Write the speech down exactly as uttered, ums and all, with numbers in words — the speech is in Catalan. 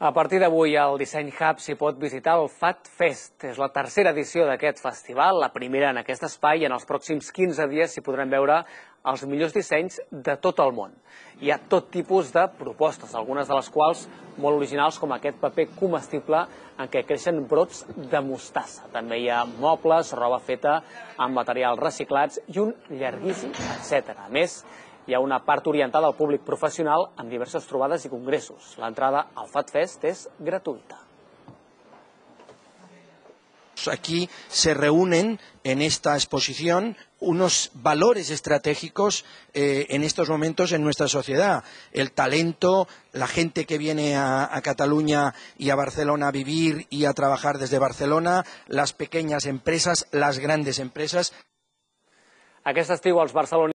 A partir d'avui, al Disseny Hub s'hi pot visitar el FatFest. És la tercera edició d'aquest festival, la primera en aquest espai, i en els pròxims quinze dies s'hi podran veure els millors dissenys de tot el món. Hi ha tot tipus de propostes, algunes de les quals molt originals, com aquest paper comestible en què creixen brots de mostassa. També hi ha mobles, roba feta amb materials reciclats i un llarguíssim etcètera. A més, hi ha una part orientada al públic profesional amb diverses trobades i congressos. L'entrada al FatFest és gratuïta. Aquí se reúnen en esta exposición unos valores estratégicos eh, en estos momentos en nuestra sociedad. El talento, la gente que viene a, a Cataluña y a Barcelona a vivir y a trabajar desde Barcelona, las pequeñas empresas, las grandes empresas. Aquest estiu els barcelonis